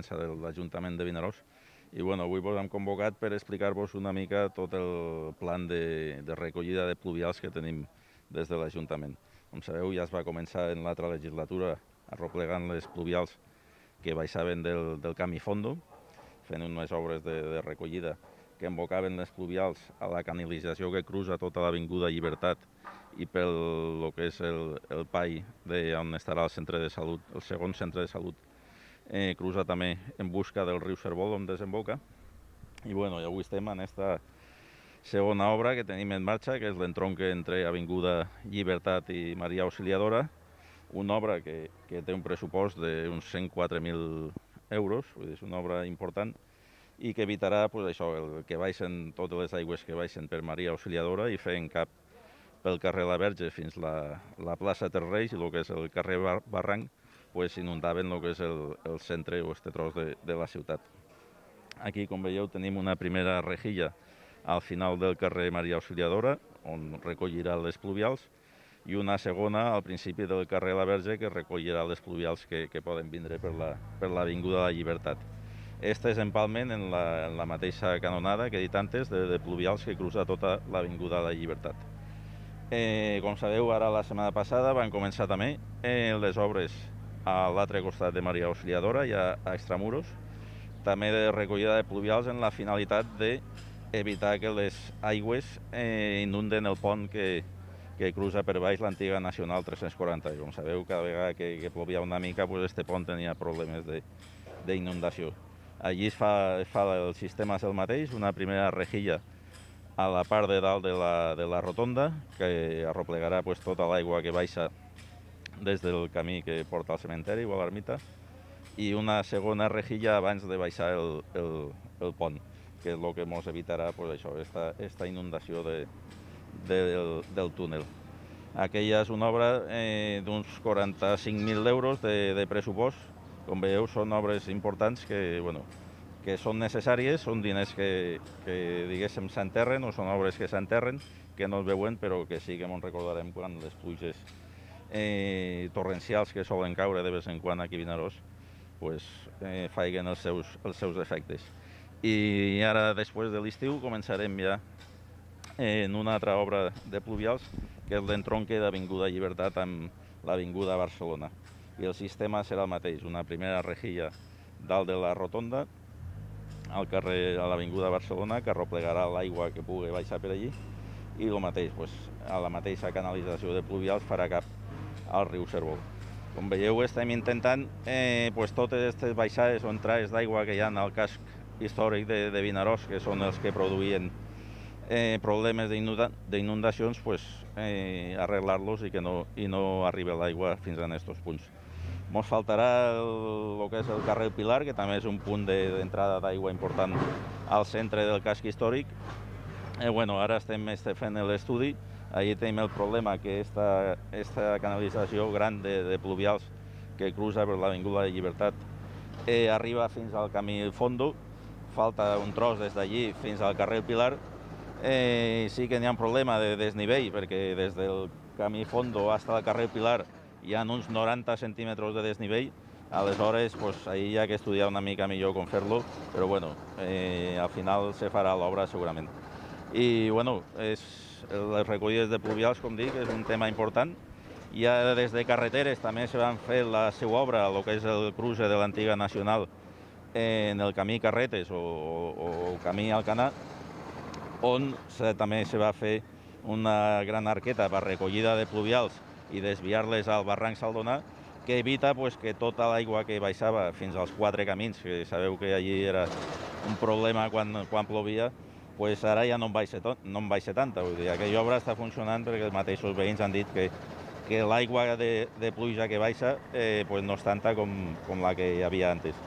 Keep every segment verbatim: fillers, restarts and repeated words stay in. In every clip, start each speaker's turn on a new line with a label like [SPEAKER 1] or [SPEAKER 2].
[SPEAKER 1] ordenança de l'Ajuntament de Vinaròs. I bueno, avui vos hem convocat per explicar-vos una mica tot el plan de, de recollida de pluvials que tenim des de l'Ajuntament. Com sabeu, ja es va començar en l'altra legislatura arroplegant les pluvials que baixaven del, del camí Fondo, fent unes obres de, de recollida que embocaven les pluvials a la canalització que cruza tota l'avinguda Llibertat i pel lo que és el, el pai on estarà el centre de salut, el segon centre de salut, eh, cruza també en busca del riu Cervol on desemboca. I bueno, i avui estem en aquesta segona obra que tenim en marxa, que és l'entronque entre Avinguda Llibertat i Maria Auxiliadora, una obra que, que té un pressupost d'uns cent quatre mil euros, vull dir, és una obra important, i que evitarà pues, això, el que baixen totes les aigües que baixen per Maria Auxiliadora i fent cap pel carrer La Verge fins la, la plaça Terreis i el que és el carrer Bar Barranc, pues, inundaven el que és el, el centre o este tros de, de la ciutat. Aquí, com veieu, tenim una primera rejilla al final del carrer Maria Auxiliadora, on recollirà les pluvials, i una segona al principi del carrer La Verge, que recollirà les pluvials que, que poden vindre per l'Avinguda la, de la Llibertat. Este és empalment en la, en la mateixa canonada que he dit antes, de, de pluvials que cruza tota l'Avinguda de la Llibertat. Eh, com sabeu, ara la setmana passada van començar també eh, les obres a l'altre costat de Maria Auxiliadora i a, a Extramuros, també de recollida de pluvials en la finalitat d'evitar que les aigües eh, inunden el pont que, que cruza per baix l'antiga Nacional tres-cents quaranta. Com sabeu, cada vegada que, que plovia una mica, pues, este pont tenia problemes d'inundació. Allí es fa, es fa el sistema és el mateix, una primera rejilla a la part de dalt de la, de la rotonda, que arroplegarà pues, tota l'aigua que baixa des del camí que porta al cementeri o a l'ermita, i una segona rejilla abans de baixar el, el, el pont, que és el que ens evitarà pues, això, esta, esta inundació de, de, del, del túnel. Aquella és una obra eh, d'uns quaranta-cinc mil euros de, de pressupost. Com veieu, són obres importants que, bueno, que són necessàries, són diners que, que diguéssim, s'enterren, o són obres que s'enterren, que no es veuen, però que sí que ens recordarem quan les pluges eh, torrencials que solen caure de vegades en quan aquí a Vinaròs pues, eh, faiguen els seus, els seus efectes. I ara, després de l'estiu, començarem ja eh, en una altra obra de pluvials, que és l'entronque d'Avinguda Llibertat amb l'Avinguda Barcelona. I el sistema serà el mateix, una primera rejilla dalt de la rotonda, al carrer a l'Avinguda Barcelona, que arroplegarà l'aigua que pugui baixar per allí, i el mateix, pues, a la mateixa canalització de pluvials farà cap al riu Cervol. Com veieu, estem intentant eh, pues, totes aquestes baixades o entrades d'aigua que hi ha al casc històric de, de Vinaròs, que són els que produïen eh, problemes d'inundacions, pues, eh, arreglar-los i que no, i no arribi l'aigua fins a aquests punts. Ens faltarà el, el que és el carrer Pilar, que també és un punt d'entrada de, d'aigua important al centre del casc històric. Eh, bueno, ara estem fent l'estudi. Allí tenim el problema que esta, esta canalització gran de, de pluvials que cruza per l'Avinguda de Llibertat eh, arriba fins al camí Fondo. Falta un tros des d'allí fins al carrer Pilar. Eh, sí que n'hi ha un problema de desnivell, perquè des del camí Fondo fins al carrer Pilar hi ha uns noranta centímetres de desnivell. Aleshores, pues, ahir hi ha que estudiar una mica millor com fer-lo, però bueno, eh, al final se farà l'obra segurament. I bueno, és, les recollides de pluvials, com dic, és un tema important. Ja des de carreteres també se van fer la seva obra, el que és el cruce de l'antiga Nacional, eh, en el camí Carretes o, o, o camí Alcanar, on se, també se va fer una gran arqueta per recollida de pluvials i desviar-les al barranc Saldonà, que evita pues, que tota l'aigua que baixava fins als quatre camins, que sabeu que allí era un problema quan, quan plovia, pues ara ja no en baixa, no en baixa tanta. Vull dir, aquella obra està funcionant perquè els mateixos veïns han dit que, que l'aigua de, de pluja que baixa eh, pues no és tanta com, com la que hi havia antes.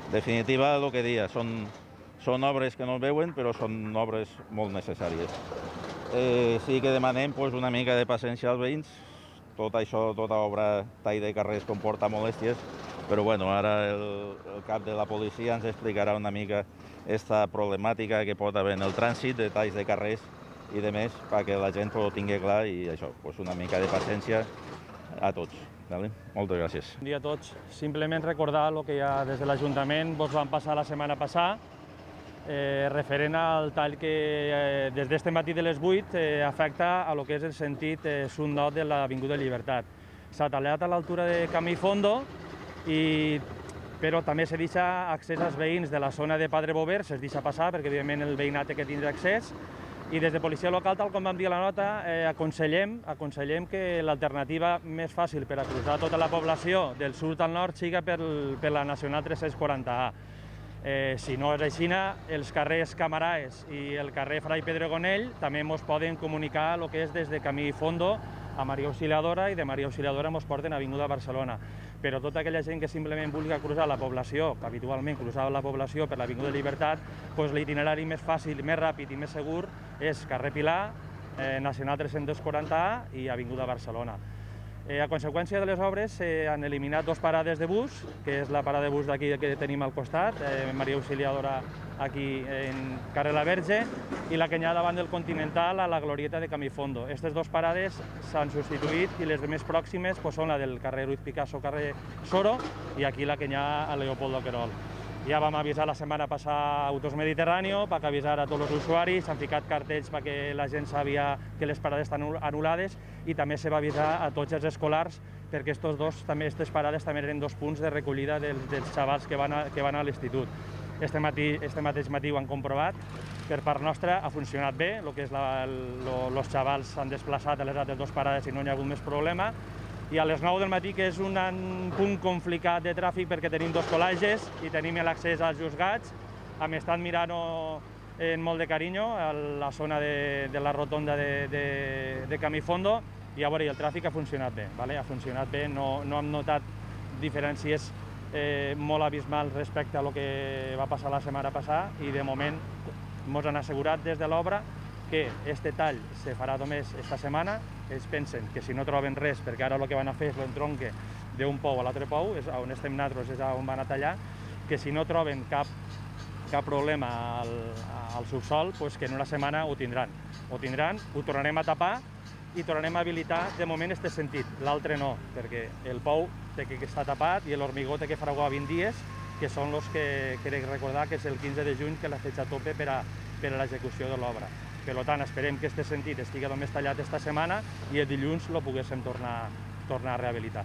[SPEAKER 1] En definitiva, el que deia, són, són obres que no es veuen, però són obres molt necessàries. Eh, sí que demanem pues, una mica de paciència als veïns. Tot això, tota obra tall de carrers comporta molèsties, però bueno, ara el, el cap de la policia ens explicarà una mica aquesta problemàtica que pot haver en el trànsit de talls de carrers i de més, perquè la gent ho tingui clar i això, pues una mica de paciència a tots. Vale? Moltes gràcies.
[SPEAKER 2] Bon dia a tots. Simplement recordar el que ja des de l'Ajuntament vos van passar la setmana passada, eh, referent al tall que eh, des d'este matí de les vuit eh, afecta a lo que és el sentit eh, sud-nord de l'Avinguda Llibertat. S'ha tallat a l'altura de Camí Fondo, i, però també se deixa accés als veïns de la zona de Padre Bover, se'ls deixa passar perquè evidentment el veïnat té que tindre accés. I des de policia local, tal com vam dir a la nota, eh, aconsellem, aconsellem que l'alternativa més fàcil per a cruzar tota la població del sud al nord siga per, per la Nacional tres-cents quaranta A. Eh, si no és així, els carrers Camaraes i el carrer Fray Pedregonell també ens poden comunicar el que és des de Camí Fondo a Maria Auxiliadora, i de Maria Auxiliadora ens porten a Avinguda Barcelona. Però tota aquella gent que simplement vulgui cruzar la població, que habitualment cruzava la població per l'Avinguda Llibertat, doncs l'itinerari més fàcil, més ràpid i més segur és carrer Pilar, eh, Nacional tres-cents quaranta A i Avinguda Barcelona. Eh, a conseqüència de les obres s'han eh, eliminat dos parades de bus, que és la parada de bus d'aquí que tenim al costat, eh, Maria Auxiliadora aquí en carrer La Verge, i la que hi ha davant del Continental a la glorieta de Camí Fondo. Aquestes dues parades s'han substituït i les més pròximes pues, són la del carrer Ruiz Picasso, carrer Soro, i aquí la que hi ha a Leopoldo Querol. Ja vam avisar la setmana passada Autos Mediterráneo perquè avisar a tots els usuaris, s'han ficat cartells perquè la gent sabia que les parades estan anul·lades, i també se va avisar a tots els escolars perquè estos dos, també, aquestes parades també eren dos punts de recollida dels, dels xavals que van a, que van a l'institut. Este, matí, este mateix matí ho han comprovat, per part nostra ha funcionat bé, el que és la, lo, los xavals s'han desplaçat a les altres dues parades i no hi ha hagut més problema. I a les nou del matí, que és un punt complicat de tràfic perquè tenim dos col·lages i tenim l'accés als juzgats, hem estat mirant en molt de carinyo a la zona de, de la rotonda de, de, de Camí Fondo, i a veure, el tràfic ha funcionat bé, vale? Ha funcionat bé, no, no hem notat diferències eh, molt abismals respecte a lo que va passar la setmana passada, i de moment ens han assegurat des de l'obra que este tall se farà només esta setmana. Ells pensen que si no troben res, perquè ara el que van a fer és l'entronque d'un pou a l'altre pou, és on estem nosaltres, és on van a tallar, que si no troben cap, cap problema al, al subsol, pues que en una setmana ho tindran. Ho tindran, ho tornarem a tapar i tornarem a habilitar de moment este sentit, l'altre no, perquè el pou té que estar tapat i l'hormigó té que fraguar vint dies, que són els que crec recordar que és el quinze de juny que la fecha tope per a, per a l'execució de l'obra. Per tant, esperem que aquest sentit estigui només tallat esta setmana i el dilluns el poguéssim tornar, tornar a rehabilitar.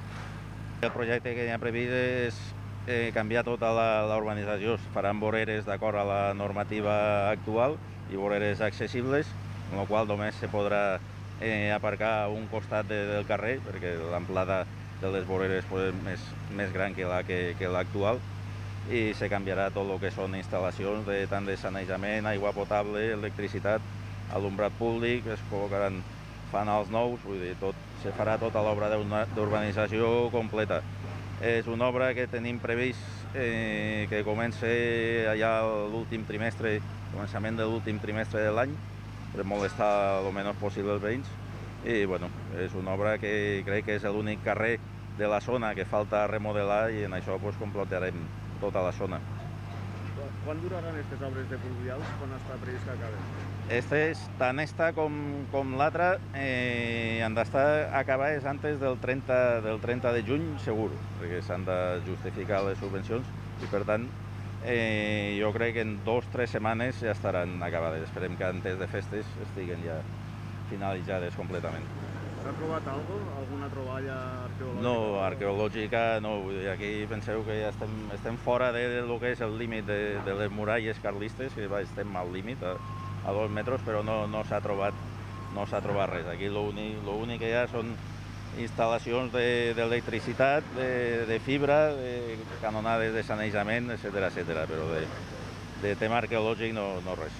[SPEAKER 1] El projecte que hi ha previst és eh, canviar tota la urbanització. Es faran voreres d'acord a la normativa actual i voreres accessibles, amb la qual només se podrà eh, aparcar a un costat de, del carrer, perquè l'amplada de les voreres és més, més gran que la que, que l'actual, i se canviarà tot el que són instal·lacions de, tant de sanejament, aigua potable, electricitat, alumbrat públic, es col·locaran fanals nous, vull dir, tot, se farà tota l'obra d'urbanització completa. És una obra que tenim previst eh, que comença allà l'últim trimestre, començament de l'últim trimestre de l'any, per molestar el menys possible els veïns. I bueno, és una obra que crec que és l'únic carrer de la zona que falta remodelar, i en això pues, completarem tota la zona.
[SPEAKER 3] Quan duraran aquestes obres de pluvials? Quan està previst que acaben?
[SPEAKER 1] Estes, tant esta com, com l'altra eh, han d'estar acabades antes del trenta, del trenta de juny, segur, perquè s'han de justificar les subvencions, i per tant eh, jo crec que en dos o tres setmanes ja estaran acabades. Esperem que antes de festes estiguen ja finalitzades completament.
[SPEAKER 3] S'ha trobat alguna cosa? Alguna troballa arqueològica?
[SPEAKER 1] No, arqueològica no. Aquí penseu que ja estem, estem fora de, de lo que és el límit de, de les muralles carlistes, que va, estem al límit, a, a dos metres, però no, no s'ha trobat, no s'ha trobat res. Aquí l'únic que hi ha són instal·lacions d'electricitat, de, de, de fibra, de canonades de sanejament, etcètera, etcètera, però de, de tema arqueològic no, no res.